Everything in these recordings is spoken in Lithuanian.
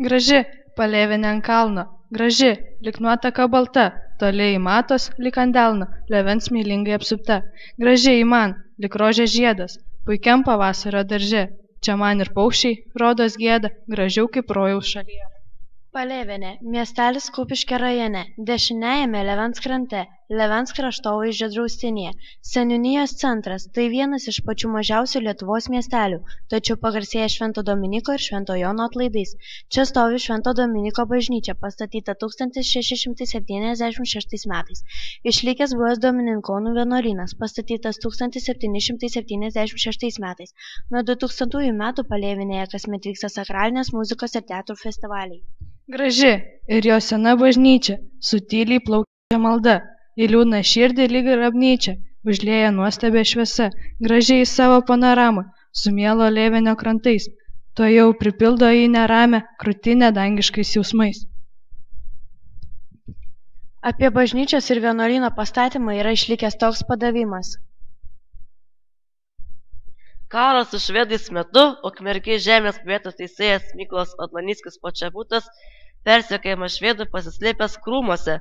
Graži, palėvinė ant kalno, graži, lyg nuotaka balta, toli į matos, lyg ant delno, levens mylingai apsupta. Graži į man, lyg rožės žiedas, puikiam pavasario darže. Čia man ir paukščiai, rodos gieda, gražiau kaip rojaus šalyje. Palėvinė, miestelis Kupiškio rajone, dešiniajame Levens krante, Levens kraštovaizdžio draustinyje. Seniūnijos centras – tai vienas iš pačių mažiausių Lietuvos miestelių, tačiau pagarsėja Švento Dominyko ir Švento Jono atlaidais. Čia stovi Švento Dominyko bažnyčia, pastatyta 1676 metais. Išlikęs buvęs Domininkonų vienuolynas, pastatytas 1776 metais. Nuo 2000 metų Palėvinėje kasmet vyksta sakralinės muzikos ir teatrų festivaliai. Graži ir jo sena bažnyčia, su tyliai plaukia malda, į liūdną širdį lyg grabnyčia, užlieja nuostabia šviesa, gražiai į savo panoramą, su mielo Lėvenio krantais, to jau pripildo į neramę krūtinę dangiškais jausmais. Apie bažnyčios ir vienuolyno pastatymą yra išlikęs toks padavimas. Karo su švedais metu Ukmergės žemės vietos teisėjas Mykolas Odlanickis Počebutas persekiojamas švedų pasislėpęs krūmuose,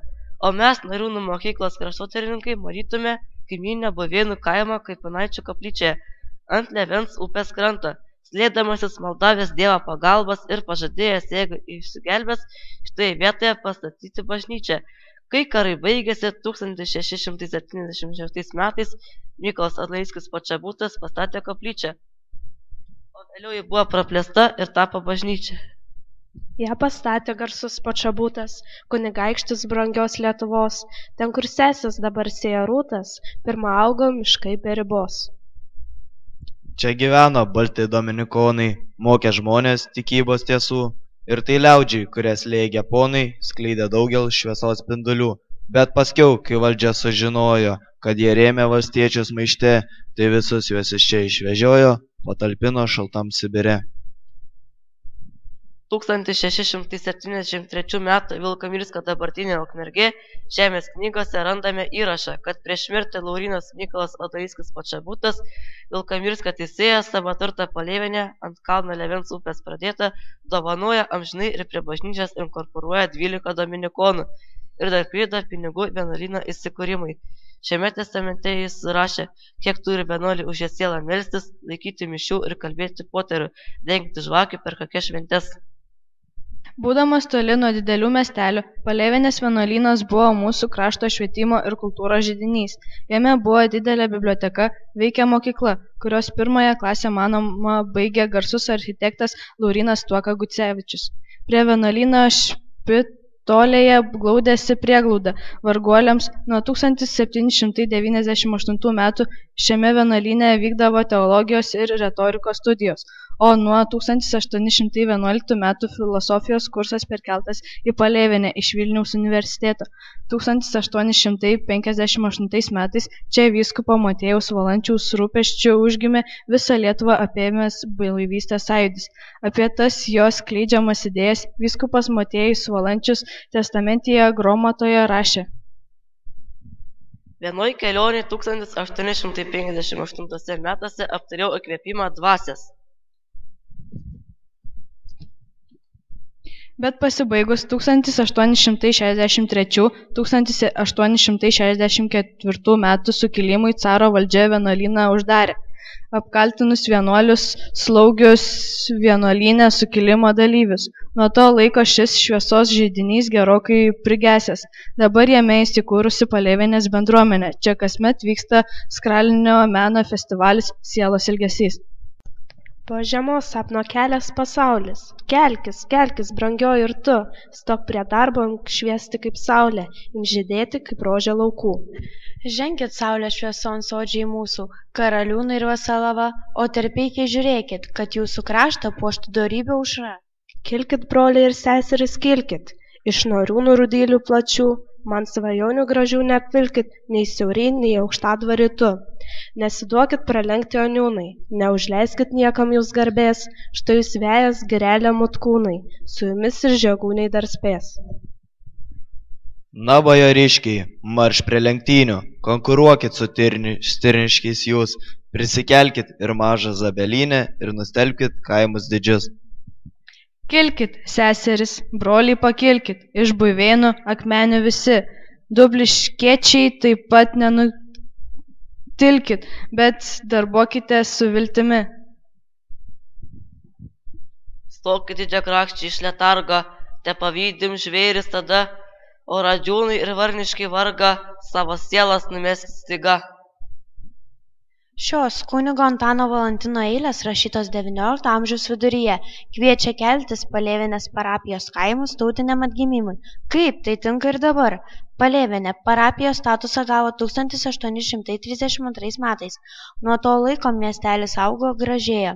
o mes Nariūnų mokyklos kraštotyrininkai matytume kaimyninę Buvėnų kaimą Kapinaičių koplyčioje ant Levens upės kranto, slėpdamasis maldavęs Dievo pagalbos ir pažadėjęs, jeigu išsigelbės, šitoje vietoje pastatyti bažnyčią. Kai karai baigėsi 1676 metais, Mykolas Odlanickis Počebutas pastatė koplyčią, o vėliau ji buvo praplėsta ir tapo bažnyčia. Ją pastatė garsus Počebutas, kunigaikštis brangios Lietuvos, ten kur sesės dabar sėja rūtas, pirma augo miškai be ribos. Čia gyveno balti dominikonai, mokė žmonės tikybos tiesų, ir tai liaudžiai, kurias slėgė ponai, skleidė daugel šviesos spindulių. Bet paskiau, kai valdžia sužinojo, kad jie rėmė valstiečius maište, tai visus juos iš čia išvežiojo, patalpino šaltam Sibire. 1673 m. Vilkamirsko dabartinė Ukmergė žemės knygose randame įrašą, kad prieš mirtį Laurynas Mykolas Odlanickis Počebutas, Vilkamirsko teisėjas, savo turtą Palėvinę ant kalno Levens upės pradėtą dovanoja amžinai ir prie bažnyčios inkorporuoja 12 dominikonų ir dar prideda pinigų vienuolyno įsikūrimui. Šiame testamente jis rašė, kiek turi vienuoliai už ją sielą melstis, laikyti mišių ir kalbėti poterių, dengti žvakių per kokias šventes. Būdamas toli nuo didelių miestelių, Palėvinės vienuolynas buvo mūsų krašto švietimo ir kultūros židinys. Jame buvo didelė biblioteka, veikė mokykla, kurios pirmąją klasę manoma baigė garsus architektas Laurynas Tuoka Gucevičius. Prie vienuolyno špitolėje glaudėsi prieglauda varguoliams. Nuo 1798 metų šiame vienuolyne vykdavo teologijos ir retorikos studijos, o nuo 1811 metų filosofijos kursas perkeltas į Palėvinę iš Vilniaus universiteto. 1858 metais čia vyskupo Motiejaus Valančiaus rūpesčiu užgimė visą Lietuvą apėmęs blaivystės sąjūdis. Apie tas jos skleidžiamas idėjas vyskupas Motiejus Valančius testamentėje Gromatoje rašė. Vienoj kelionėje 1858 metuose aptariau įkvėpimą dvasios. Bet pasibaigus 1863–1864 metų sukilimui caro valdžia vienuolyną uždarė, apkaltinus vienuolius slaugius vienuolyne sukilimo dalyvius. Nuo to laiko šis šviesos židinys gerokai prigesęs. Dabar jame įsikūrusi Palėvinės bendruomenė. Čia kasmet vyksta sakralinio meno festivalis Sielos ilgesys. Po žiemos sapno kelias pasaulis. Kelkis, kelkis, brangioji ir tu, stok prie darbo, imk šviesti kaip saulė, imk žydėti kaip rožė laukų. Ženkit saulę švieson sodžiai mūsų, karaliūnai ir vasalava, o terpeikiai žiūrėkit, kad jūsų kraštą puoštų dorybė aušra. Kilkit, broliai ir seseris, kilkit, iš Nariūnų rudylių plačių, man svajonių gražių neapvilkit, nei siauriai, nei aukštadvarį tu. Nesiduokit pralenkti oniūnai, neužleiskit niekam jūs garbės, štai jūs vėjas girelė mutkūnai, su jumis ir žegūniai dar spės. Na, bajoriškiai, marš prie lenktynių, konkuruokit su stirniškiais jūs, prisikelkit ir mažą Zabelinę ir nustelbkit kaimus didžius. Kilkit, seserys, broliai pakilkit, iš Buivėnų akmenių visi, dubliškiečiai taip pat nenutilkit, bet darbuokite su viltimi. Stokit didžiakrakščiai iš letargo, te pavydim žvėris tada, o radžiūnai ir varniškai varga, savo sielas numeskit staiga. Šios kunigo Antano Valantino eilės rašytos XIX amžiaus viduryje kviečia keltis Palėvenės parapijos kaimus tautiniam atgimimui. Kaip tai tinka ir dabar? Palėvenė parapijos statusą gavo 1832 metais. Nuo to laiko miestelis augo, gražėjo.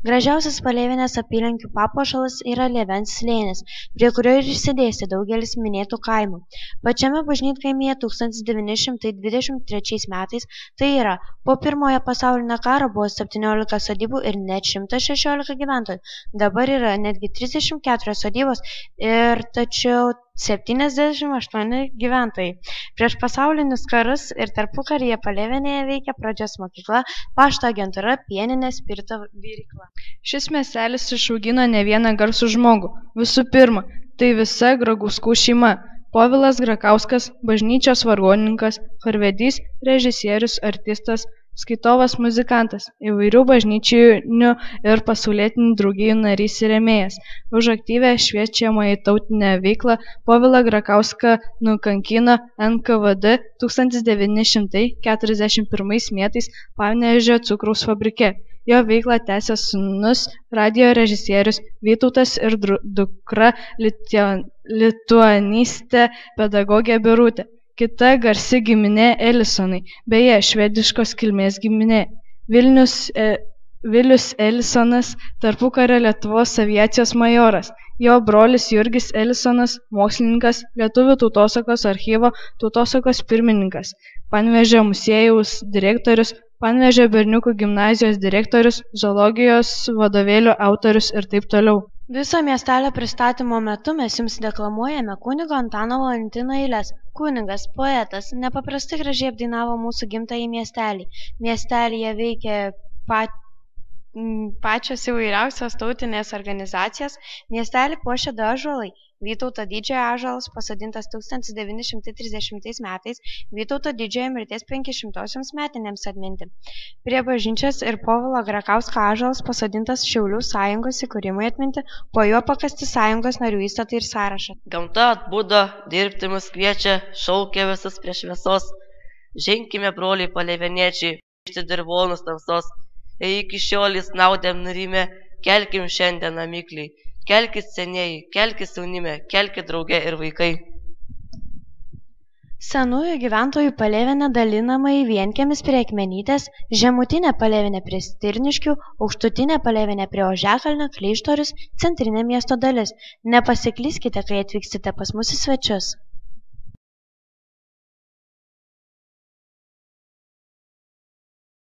Gražiausias Palėvenės apylinkių papuošalas yra Lėvens slėnis, prie kurio ir išsidėstė daugelis minėtų kaimų. Pačiame bažnytkaimyje 1923 metais, tai yra, po Pirmojo pasaulinio karo buvo 17 sodybų ir net 116 gyventojų. Dabar yra netgi 34 sodybos ir tačiau 78 gyventojai. Prieš pasaulinius karus ir tarpukaryje Palėvenėje veikia pradžios mokykla, pašto agentūra, pieninė, spirito virykla. Šis miestelis išaugino ne vieną garsų žmogų. Visų pirma, tai visa Gragauskų šeima. Povilas Grakauskas, bažnyčios vargonininkas, chorvedys, režisierius, artistas, skaitovas, muzikantas, įvairių bažnyčiinių ir pasaulietinių draugijų narys ir rėmėjas. Už aktyvią šviečiamąją tautinę veiklą Povilą Grakauską nukankino NKVD 1941 metais Panevėžio cukraus fabrike. Jo veiklą tęsė sūnus radijo režisierius Vytautas ir dukra lituanistė pedagogė Birutė. Kita garsi giminė Elisonai, beje, švediškos kilmės giminė. Vilius Elisonas, tarpukario Lietuvos aviacijos majoras. Jo brolis Jurgis Elisonas, mokslininkas, Lietuvių tautosakos archyvo tautosakos pirmininkas, Panevėžio muziejaus direktorius, Panevėžio berniukų gimnazijos direktorius, zoologijos vadovėlių autorius ir taip toliau. Viso miestelio pristatymo metu mes jums deklamuojame kunigo Antano Valantino eiles. Kunigas, poetas, nepaprastai gražiai apdainavo mūsų gimtąjį miestelį. Miestelyje veikia pačios įvairiausios tautinės organizacijos. Miestelį puošia du ąžuolai. Vytauto didžiojo ąžuolas pasodintas 1930 metais, Vytauto didžiojo mirties 500-osioms metinėms atminti. Prie bažnyčios ir Povilo Grakausko ąžuolas pasodintas Šiaulių sąjungos įkūrimui atminti, po juo pakasti sąjungos narių įstatai ir sąrašą. Gamta atbudo, dirbti mus kviečia, šaukia visus prie šviesos. Ženkime, broliai palėveniečiai, išti dirvonus tamsos. Jei iki šiolės naudėm nurimė, kelkim šiandien amikliai. Kelkis senieji, kelkis jaunime, kelkis drauge ir vaikai. Senųjų gyventojų Palėvenė dalinama į vienkiemis prie Akmenytės, žemutinė Palėvenė prie Stirniškių, aukštutinė Palėvenė prie Ožekalnio, Kleištorius, centrinė miesto dalis. Nepasiklyskite, kai atvyksite pas mus į svečius.